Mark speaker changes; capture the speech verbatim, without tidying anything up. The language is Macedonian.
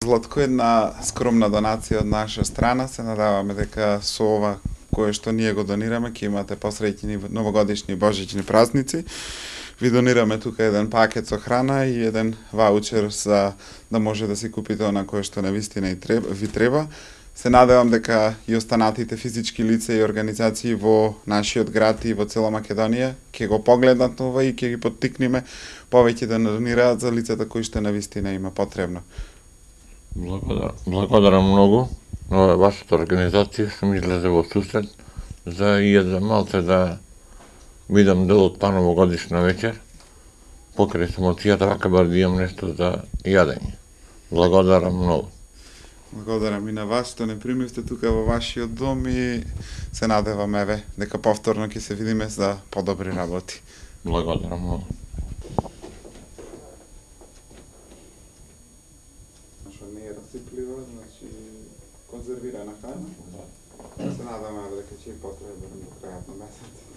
Speaker 1: Златко, една скромна донација од наша страна. Се надаваме дека со ова кое што ние го донираме, ќе имате посреќни новогодишни и божични празници. Ви донираме тука еден пакет со храна и еден ваучер за да може да си купите она кое што навистина и треба, ви треба. Се надевам дека и останатите физички лица и организации во нашиот град и во цела Македонија ќе го погледнат ова и ќе ги поттикнеме повеќе да донираат за лицата кои што навистина има потребно.
Speaker 2: Благодарам, благодарам многу на вашата организација што ми излезе во сусрет за и за малце да видам дел од па новогодишна вечер. Покрај самоцијата вака бар да имам нешто за јадење. Благодарам многу.
Speaker 1: Благодарам и на вас што не примивте тука во вашиот дом и се надевам еве дека повторно ќе се видиме за подобри работи.
Speaker 2: Благодарам многу.
Speaker 1: Што не е расиплива, значи конзервирана храна. Се надевам дека ќе и потреба до крајот на месец.